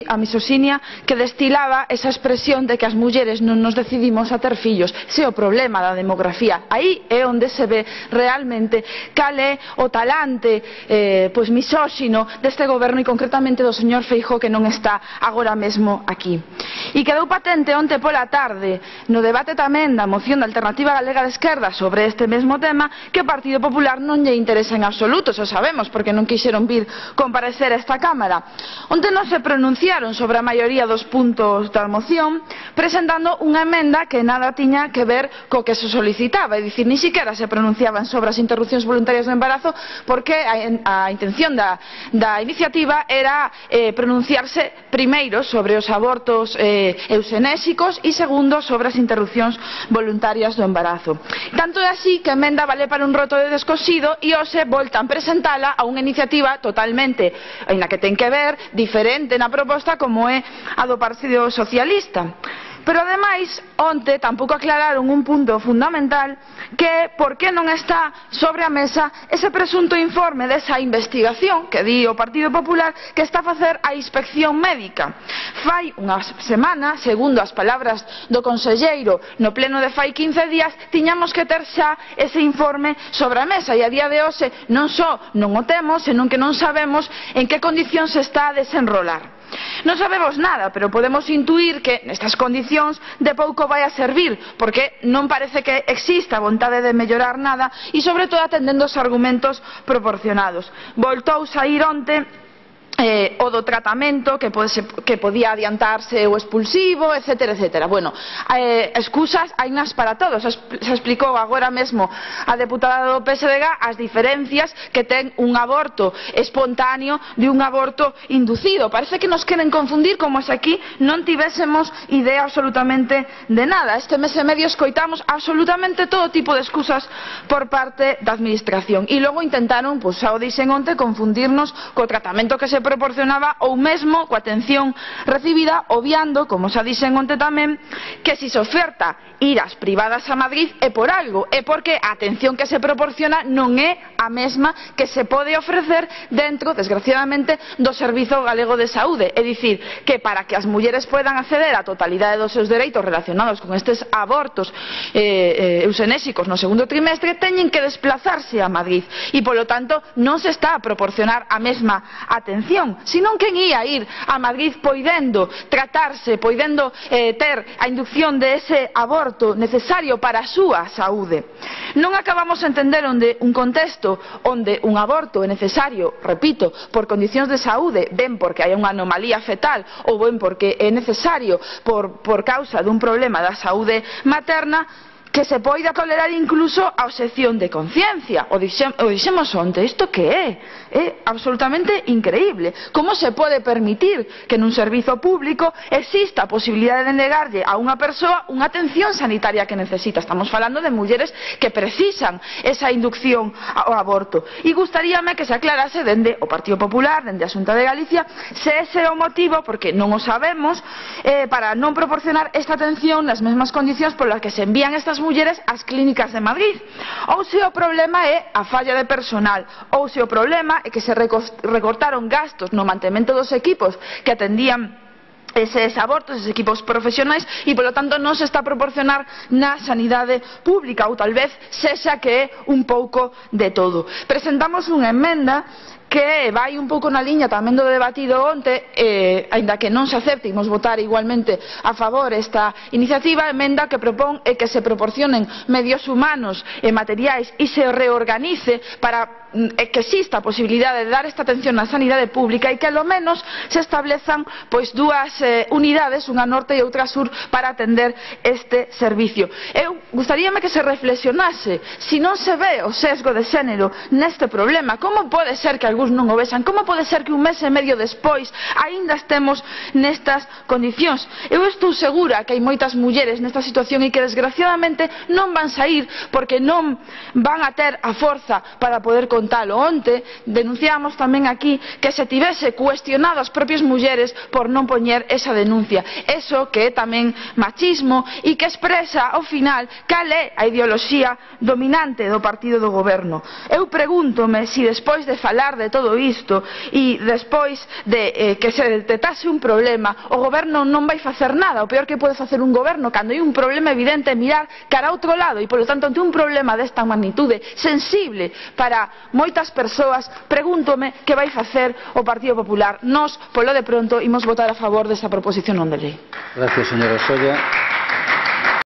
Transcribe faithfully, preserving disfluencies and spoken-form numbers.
a misoxinia que destilaba esa expresión de que as mulleres non nos decidimos a ter fillos. Ese é o problema da demografía. Aí é onde se ve realmente cal é o talante eh, pois misóxino deste goberno e concretamente do señor Feijóo, que non está agora mesmo aquí. E quedou patente onte pola tarde no debate tamén da moción da Alternativa Galega de Esquerda sobre este mesmo tema que o Partido Popular non lle interesa en absoluto, xa sabemos, porque non quixeron vir comparecer a esta Cámara. Onte non se pronunciaron sobre a maioría dos puntos da moción, presentando unha emenda que nada tiña que ver co que se solicitaba, é dicir, ni siquiera se pronunciaban sobre as interrupcións voluntarias do embarazo, porque a, a intención da, da iniciativa era eh, pronunciarse primeiro sobre os abortos eh, eusenésicos e segundo sobre as interrupcións voluntarias do embarazo. Tanto é así que a emenda vale para un roto de descosido e hoxe voltan presentala a unha iniciativa totalmente, en la que ten que ver, diferente na proposta como é a do Partido Socialista. Pero ademais, onte tampouco aclararon un punto fundamental, que é por que non está sobre a mesa ese presunto informe desa investigación que di o Partido Popular que está a facer a inspección médica. Fai unha semana, segundo as palabras do conselleiro no pleno de fai quince días, tiñamos que ter xa ese informe sobre a mesa e a día de hoxe non só non o temos, senón que non sabemos en que condicións se está a desenrolar. Non sabemos nada, pero podemos intuir que nestas condicións de pouco vai a servir, porque non parece que exista vontade de mellorar nada e sobre todo atendendo os argumentos proporcionados. Voltou saír onte Eh, o do tratamento que, pode, que podía adiantarse o expulsivo, etcétera, etcétera. Bueno, eh, excusas hai nas para todos. Se explicou agora mesmo a deputada do P S D G as diferencias que ten un aborto espontáneo de un aborto inducido. Parece que nos queren confundir como se aquí non tivésemos idea absolutamente de nada. Este mes e medio escoitamos absolutamente todo tipo de excusas por parte da administración e logo intentaron, pois xa o dixen onte, confundirnos co tratamento que se proporcionaba ou mesmo coa atención recibida, obviando, como xa dixen onte tamén, que se se oferta ir ás privadas a Madrid é por algo, é porque a atención que se proporciona non é a mesma que se pode ofrecer dentro, desgraciadamente, do Servizo Galego de Saúde. É dicir, que para que as mulleres poidan acceder á totalidade dos seus dereitos relacionados con estes abortos eh, eh, eusenésicos no segundo trimestre, teñen que desplazarse a Madrid e, polo tanto, non se está a proporcionar a mesma atención, senón quen ia ir a Madrid poidendo tratarse, poidendo eh, ter a inducción de ese aborto necesario para a súa saúde. Non acabamos de entender onde un contexto onde un aborto é necesario, repito, por condicións de saúde, ben porque hai unha anomalía fetal ou ben porque é necesario por, por causa dun problema da saúde materna, que se poida tolerar incluso a obxección de conciencia. O dixemos onte, isto que é? É absolutamente increíble. Como se pode permitir que nun servizo público exista a posibilidade de negarlle a unha persoa unha atención sanitaria que necesita? Estamos falando de mulleres que precisan esa inducción ao aborto. E gustaríame que se aclarase dende o Partido Popular, dende a Xunta de Galicia, se ese é o motivo, porque non o sabemos, eh, para non proporcionar esta atención nas mesmas condicións polas que se envían estas mulleres ás clínicas de Madrid, ou se o problema é a falla de personal, ou se o problema é que se recortaron gastos no mantemento dos equipos que atendían eses abortos, eses equipos profesionais e, polo tanto, non se está a proporcionar na sanidade pública, ou tal vez sexa que é un pouco de todo. Presentamos unha emenda que vai un pouco na liña tamén do debatido onte, eh, aínda que non se acepte, imos votar igualmente a favor esta iniciativa, emenda que propón é que se proporcionen medios humanos e materiais e se reorganice para eh, que exista a posibilidade de dar esta atención na sanidade pública e que ao menos se establezan pois dúas eh, unidades, unha norte e outra sur, para atender este servicio. Eu gustaríame que se reflexionase se non se ve o sesgo de xénero neste problema. Como pode ser que algúns non o vexan? Como pode ser que un mes e medio despois aínda estemos nestas condicións? Eu estou segura que hai moitas mulleres nesta situación e que desgraciadamente non van saír porque non van a ter a forza para poder contalo. Onte denunciamos tamén aquí que se tivese cuestionado as propias mulleres por non poñer esa denuncia. Eso que é tamén machismo e que expresa ao final cal é a ideoloxía dominante do partido do goberno. Eu pregúntome se despois de falar de de todo isto e despois de eh, que se detectase un problema, o goberno non vai facer nada. O peor que pode facer un goberno cando hai un problema evidente é mirar cara a outro lado, e polo tanto ante un problema desta magnitude sensible para moitas persoas, pregúntome que vai facer o Partido Popular. Nós, polo de pronto, imos votar a favor desta proposición non de lei. Gracias, señora Solla.